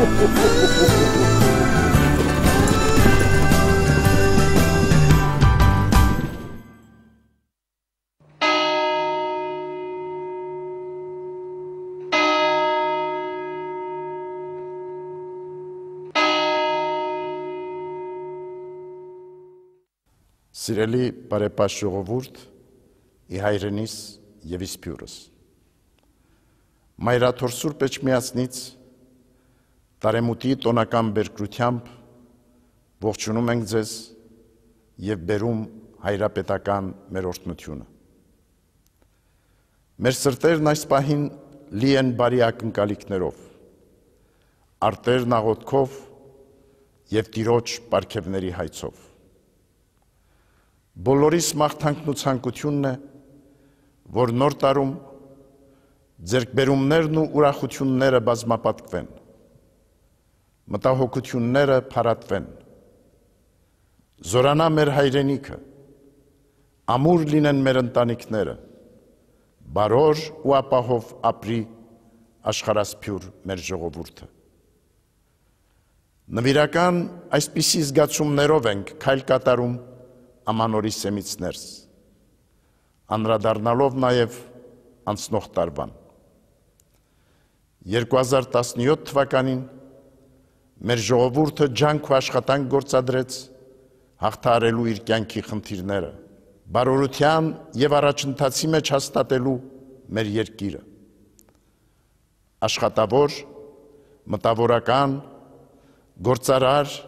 Սիրելի բարեպաշ ժողովուրդ, ի հայրենիս և իսպյուրս։ Մայրաթոր Սուրբ Էջմիածնից տարեմուտի տոնական բերկրությամբ ողջունում ենք ձեզ և բերում հայրապետական մեր օրհնությունը։ Մեր սրտերն այս պահին լի են բարի ակնկալիքներով, արտերն աղոթքով և Տիրոջ պարգևների հայցով։ Բոլորիս մաղթանքն ու ցանկությունն է, որ նոր տարում ձեռքբերումներն ու ուրախությունները բազմապատկվեն, մտահոգությունները փարատվեն, զորանա մեր հայրենիքը, ամուր լինեն մեր ընտանիքները, բարոր ու ապահով ապրի աշխարհասփյուր մեր ժողովուրդը։ Նվիրական այսպիսի զգացումներով ենք քայլ կատարում ամանորի սեմից ներս, անդրադառնալով նաև անցնող տարվան։ 2017 թվականին մեր ժողովուրդը ջանք ու աշխատանք գործադրեց հաղթահարելու իր կյանքի խնդիրները, բարօրության և առաջընթացի մեջ հաստատելու մեր երկիրը։ Աշխատավոր, մտավորական, գործարար,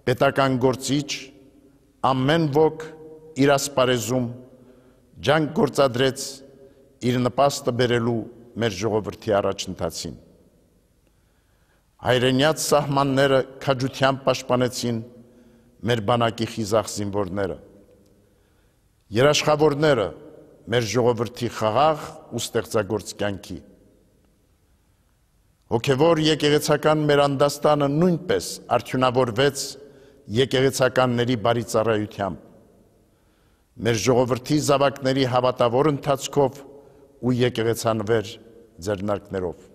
պետական գործիչ, ամեն ոք իր ասպարեզում ջանք գործադրեց իր նպաստը բերելու մեր ժողովրդի առաջընթացին։ Հայրենյաց սահմանները քաջությամբ պաշտպանեցին մեր բանակի խիզախ զինվորները, երաշխավորները մեր ժողովրդի խաղաղ ու ստեղծագործ կյանքի։ Հոգևոր եկեղեցական մեր անդաստանը նույնպես արդյունավորվեց եկեղեցականների բարի ծառայությամբ, մեր ժողովրդի զավակների հավատավոր ընթացքով ու եկեղեցանվեր ձեռնարկներով։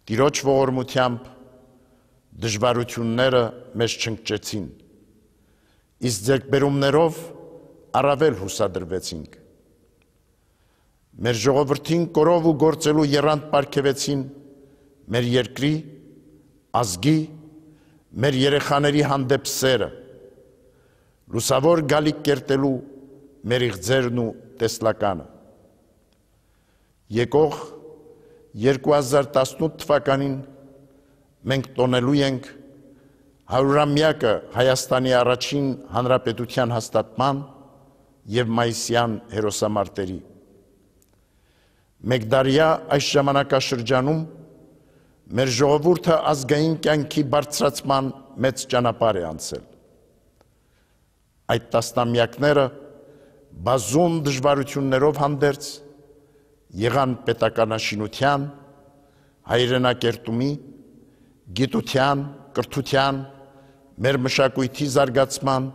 Տիրոջ ողորմությամբ դժվարությունները մեզ չընկճեցին, իսկ ձեռքբերումներով առավել հուսադրվեցինք։ Մեր ժողովրդին կորով ու գործելու եռանդ պարգևեցին մեր երկրի, ազգի, մեր երեխաների հանդեպ սերը, լուսավոր գալիք կերտելու մեր իղձերն ու տեսլականը։ Եկող 2018 թվականին մենք տոնելու ենք 100-ամյակը Հայաստանի առաջին հանրապետության հաստատման և մայիսյան հերոսամարտերի։ Մեկդարյա այս ժամանակաշրջանում մեր ժողովուրդը ազգային կյանքի բարձրացման մեծ ճանապարհ է անցել։ Այդ տասնամյակները բազում դժվարություններով հանդերձ եղան պետականաշինության, հայրենակերտումի, գիտության, կրթության, մեր մշակույթի զարգացման,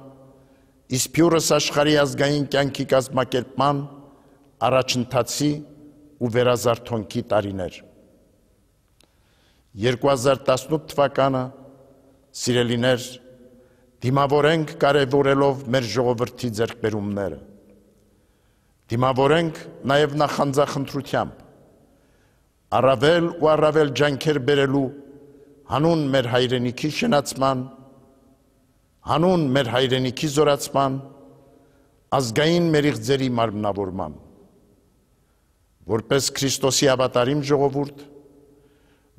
իսպյուրս աշխարհի ազգային կյանքի կազմակերպման, առաջընթացի ու վերազարթոնքի տարիներ։ 2018 թվականը, սիրելիներ, դիմավորենք կարևորելով մեր ժողովրդի ձեռքբերումները, դիմավորենք նաև նախանձախնդրությամբ, առավել ու առավել ջանքեր բերելու հանուն մեր հայրենիքի շնացման, հանուն մեր հայրենիքի զորացման, ազգային մեր իղձերի մարմնավորման, որպես Քրիստոսի հավատարիմ ժողովուրդ,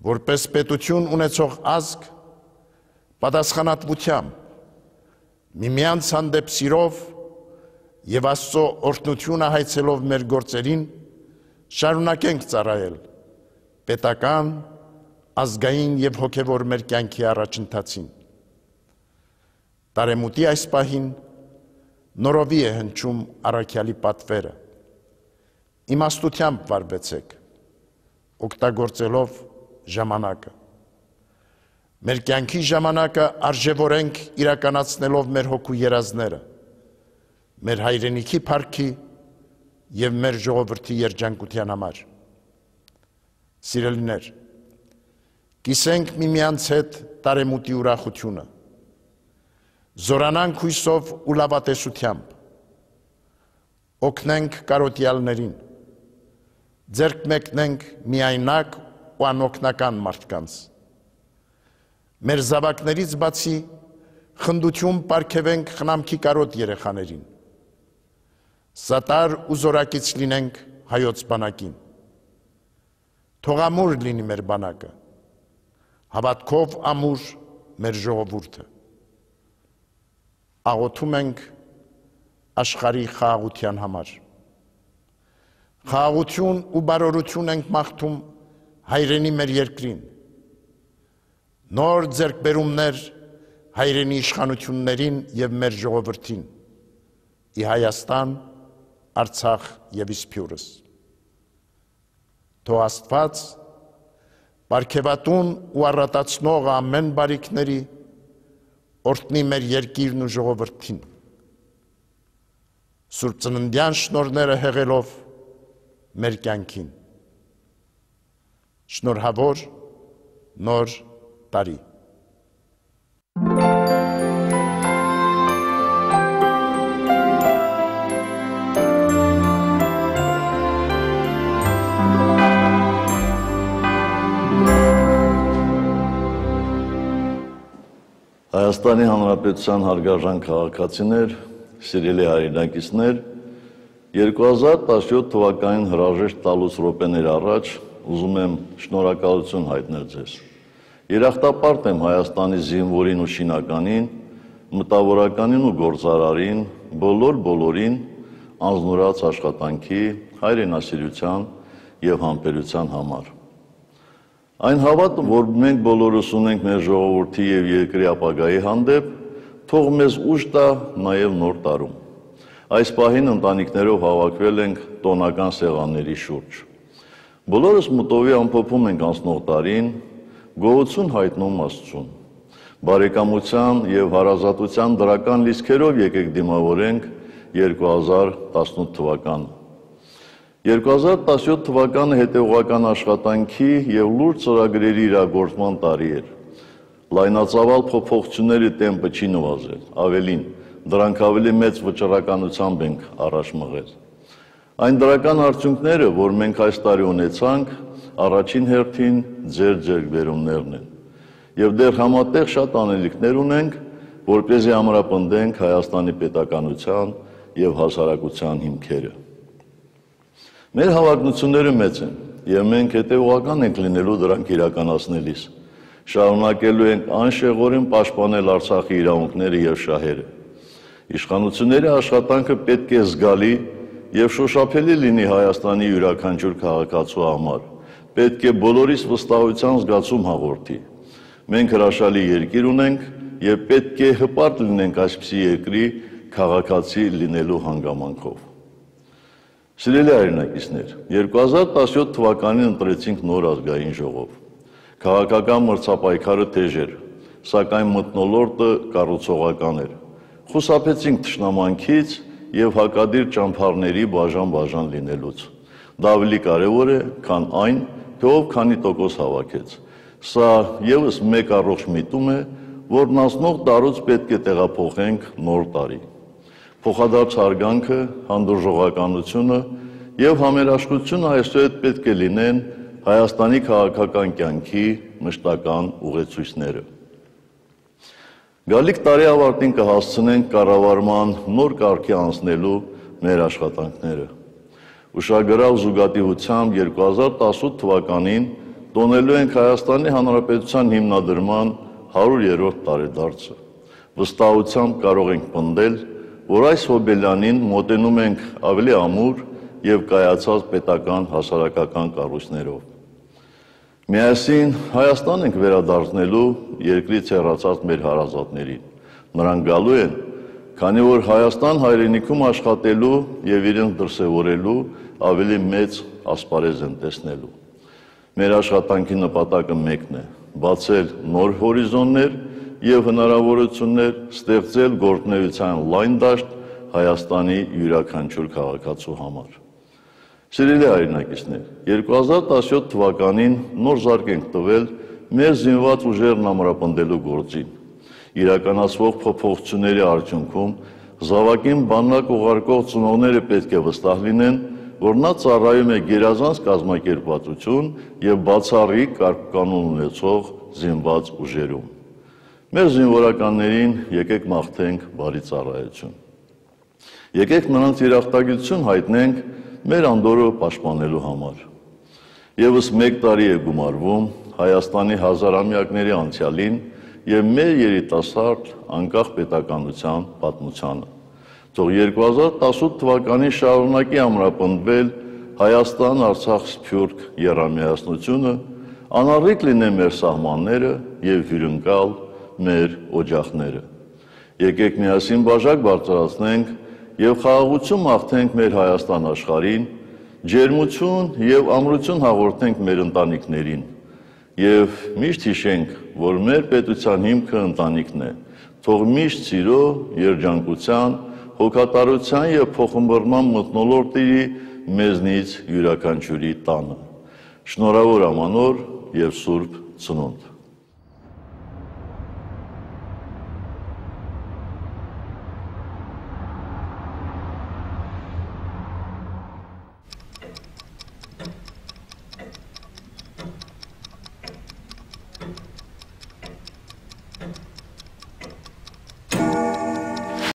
որպես պետություն ունեցող ազգ, պատասխանատվությամբ, միմյանց հանդեպ սիրով և Աստծո օրհնությունը հայցելով մեր գործերին, շարունակենք ծառայել պետական, ազգային և հոգևոր մեր կյանքի առաջընթացին։ Տարեմուտի այս պահին նորովի է հնչում առաքյալի պատվերը։ Իմաստությամբ վարվեցեք, օգտագործելով ժամանակը։ Մեր կյանքի ժամանակը արժևորենք իրականացնելով մեր հոգու երազները, մեր հայրենիքի փառքի և մեր ժողովրդի երջանկության համար։ Սիրելիներ, կիսենք միմյանց հետ տարեմուտի ուրախությունը, զորանանք հույսով ու լավատեսությամբ, օգնենք կարոտյալներին, ձեռք մեկնենք միայնակ ու անօգնական մարդկանց, մեր զավակներից բացի խնդություն պարգևենք խնամքի կարոտ երեխաներին, սատար ու զորակից լինենք հայոց բանակին, թող ամուր լինի մեր բանակը, հավատքով ամուր մեր ժողովուրդը, աղոթում ենք աշխարհի խաղաղության համար, խաղաղություն ու բարօրություն ենք մաղթում հայրենի մեր երկրին, նոր ձեռքբերումներ հայրենի իշխանություններին և մեր ժողովրդին, ի Հայաստան, Արցախ և Իսփյուռս։ Թող Աստված պարգևատուն ու առատացնող ամեն բարիքների օրհնի մեր երկիրն ու ժողովրդին, Սուրբ Ծննդյան շնորհները հեղելով մեր կյանքին։ Շնորհավոր նոր տարի։ Հայաստանի Հանրապետության հարգարժան քաղաքացիներ, սիրելի հայրենակիցներ, 2017 թվականին հրաժեշտ տալուց րոպեներ առաջ ուզում եմ շնորհակալություն հայտնել ձեզ։ Երախտապարտ եմ Հայաստանի զինվորին ու շինականին, մտավորականին ու գործարարին, բոլորին անձնուրաց աշխատանքի, հայրենասիրության և համբերության համար։ Այն հավատը, որ մենք բոլորս ունենք մեր ժողովրդի և երկրի ապագայի հանդեպ, թող մեզ ուժ տա նաև նոր տարում։ Այս պահին ընտանիքներով հավաքվել ենք տոնական սեղանների շուրջ։ Բոլորս մտովի ամփոփում ենք անցնող տարին, գոհություն հայտնում Աստծուն։ Բարեկամության և հարազատության դրական լիցքերով եկեք դիմավորենք 2018 թվականը։ 2017 թվականը հետևողական աշխատանքի և լուրջ ծրագրերի իրագործման տարի էր։ Լայնածավալ փոփոխությունների տեմպը չի նվազել, ավելին, դրանք ավելի մեծ վճռականությամբ ենք առաջ մղել։ Այն դրական արդյունքները, որ մենք այս տարի ունեցանք, առաջին հերթին ձեր ձեռքբերումներն են։ Եվ դեռ համատեղ շատ անելիքներ ունենք, որպեսզի ամրապնդենք Հայաստանի պետականության և հասարակության հիմքերը։ Մեր հավակնությունները մեծ են, և մենք հետևողական ենք լինելու դրանք իրականացնելիս։ Շարունակելու ենք անշեղորեն պաշտպանել Արցախի իրավունքները և շահերը։ Իշխանությունների աշխատանքը պետք է զգալի և շոշափելի լինի Հայաստանի յուրաքանչյուր քաղաքացու համար, պետք է բոլորիս վստահության զգացում հաղորդի։ Մենք հրաշալի երկիր ունենք և պետք է հպարտ լինենք այսպիսի երկրի քաղաքացի լինելու հանգամանքով։ Սիրելի հայրենակիցներ, 2017 թվականին ընտրեցինք նոր ազգային ժողով։ Քաղաքական մրցապայքարը թեժ էր, սակայն մթնոլորտը կառուցողական էր։ Խուսափեցինք թշնամանքից և հակադիր ճամբարների բաժան լինելուց։ Դա ավելի կարևոր է, քան այն, թե ով քանի տոկոս հավաքեց։ Սա ևս մեկ առողջ միտում է, որն անցնող տարուց պետք է տեղափոխենք նոր տարի։ Փոխադարձ հարգանքը, հանդուրժողականությունը և համերաշխությունը այսուհետ պետք է լինեն Հայաստանի քաղաքական կյանքի մշտական ուղեցույցները։ Գալիք տարի ավարտին կհասցնենք կառավարման նոր կարգի անցնելու մեր աշխատանքները։ Ուշագրավ զուգադիպությամբ 2018 թվականին տոնելու ենք Հայաստանի Հանրապետության հիմնադրման 100-րդ տարեդարձը։ Վստահությամբ կարող ենք պնդել, որ այս հոբելյանին մոտենում ենք ավելի ամուր և կայացած պետական հասարակական կառույցներով։ Միասին Հայաստան ենք վերադարձնելու երկրից հեռացած մեր հարազատներին։ Նրանք գալու են, քանի որ Հայաստան հայրենիքում աշխատելու և իրենց դրսևորելու ավելի մեծ ասպարեզ են տեսնելու։ Մեր աշխատանքի նպատակը մեկն է՝ բացել նոր հորիզոններ և հնարավորություններ, ստեղծել գործունեության լայն դաշտ Հայաստանի յուրաքանչյուր քաղաքացու համար։ Սիրելի հայրենակիցներ, 2017 թվականին նոր զարկ ենք տվել մեր զինված ուժերն ամրապնդելու գործին։ Իրականացվող փոփոխությունների արդյունքում զավակին բանակ ուղարկող ծնողները պետք է վստահ լինեն, որ նա ծառայում է գերազանց կազմակերպվածություն եւ բացառիկ կարգուկանոն ունեցող զինված ուժերում։ Մեր զինվորականներին եկեք մաղթենք բարի ծառայություն։ Եկեք նրանց երախտագիտություն հայտնենք մեր անդորը պաշտպանելու համար։ Եվս մեկ տարի է գումարվում Հայաստանի հազարամյակների անցյալին եւ մեր երիտասարդ անկախ պետականության պատմությանը։ Թող 2018 թվականին շարունակի ամրապնդվել Հայաստան-Արցախ-Սփյուռք եռամիասնությունը, անառիկ լինեն մեր սահմանները եւ հյուրընկալ մեր օջախները։ Եկեք միասին բաժակ բարձրացնենք եւ խաղաղություն մաղթենք մեր Հայաստան աշխարհին, ջերմություն եւ ամրություն հաղորդենք մեր ընտանիքներին եւ միշտ հիշենք, որ մեր պետության հիմքը ընտանիքն է։ Թող միշտ սիրո, երջանկության, հոգատարության եւ փոխմբռնման մթնոլորտ տիրի մեզնից յուրաքանչյուրի տանը։ Շնորհավոր ամանոր եւ Սուրբ Ծնունդ։